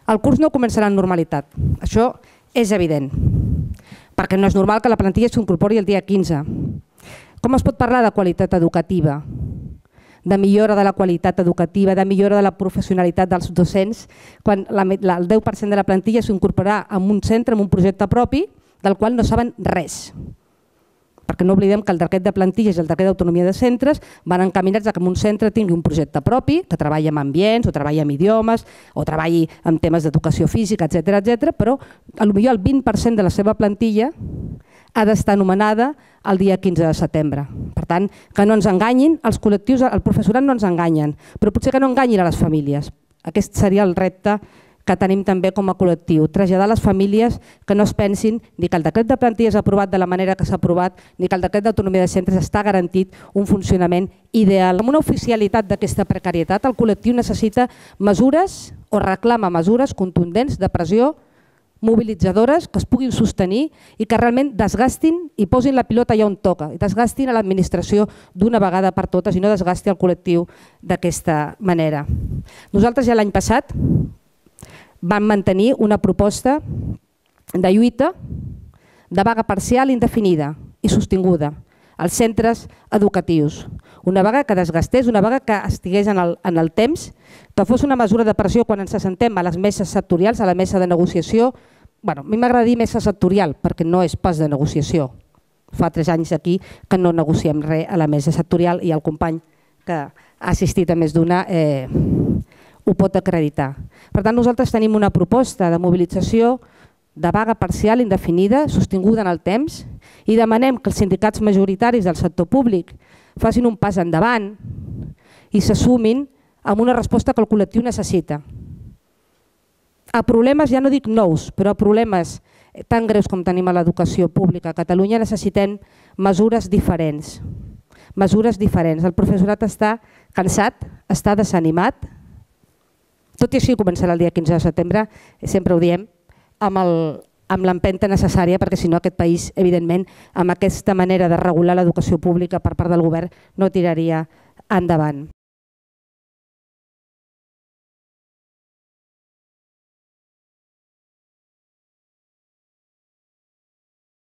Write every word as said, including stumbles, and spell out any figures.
El curs no començarà en normalitat, això és evident, perquè no és normal que la plantilla s'incorpori el dia quinze. Com es pot parlar de qualitat educativa, de millora de la qualitat educativa, de millora de la professionalitat dels docents, quan el deu per cent de la plantilla s'incorporarà en un centre, en un projecte propi, del qual no saben res? Perquè no oblidem que el decret de plantilles i el decret d'autonomia de centres van encaminats a que un centre tingui un projecte propi, que treballi amb ambients, o treballi amb idiomes, o treballi amb temes d'educació física, etcètera, etcètera, però potser el vint per cent de la seva plantilla ha d'estar anomenada el dia quinze de setembre. Per tant, que no ens enganyin, els col·lectius, el professorat no ens enganyen, però potser que no enganyin a les famílies. Aquest seria el repte que tenim també com a col·lectiu, traslladar a les famílies que no es pensin ni que el decret de plantilles aprovat de la manera que s'ha aprovat, ni que el decret d'autonomia de centres està garantit un funcionament ideal. Amb una oficialitat d'aquesta precarietat, el col·lectiu necessita mesures o reclama mesures contundents de pressió, mobilitzadores, que es puguin sostenir i que realment desgastin i posin la pilota allà on toca, i desgastin a l'administració d'una vegada per totes i no desgasti el col·lectiu d'aquesta manera. Nosaltres ja l'any passat vam mantenir una proposta de lluita de vaga parcial indefinida i sostinguda als centres educatius. Una vaga que desgastés, una vaga que estigués en el, en el temps, que fos una mesura de pressió quan ens assentem a les meses sectorials, a la mesa de negociació. Bueno, a mi m'agrada dir mesa sectorial perquè no és pas de negociació. Fa tres anys aquí que no negociem res a la mesa sectorial i el company que ha assistit a més d'una eh, ho pot acreditar. Per tant, nosaltres tenim una proposta de mobilització de vaga parcial indefinida, sostinguda en el temps, i demanem que els sindicats majoritaris del sector públic facin un pas endavant i s'assumin amb una resposta que el col·lectiu necessita. A problemes, ja no dic nous, però a problemes tan greus com tenim a l'educació pública a Catalunya necessitem mesures diferents. Mesures diferents. El professorat està cansat, està desanimat. Tot i així començarà el dia quinze de setembre, sempre ho diem, amb l'empenta necessària, perquè si no aquest país, evidentment, amb aquesta manera de regular l'educació pública per part del govern no tiraria endavant.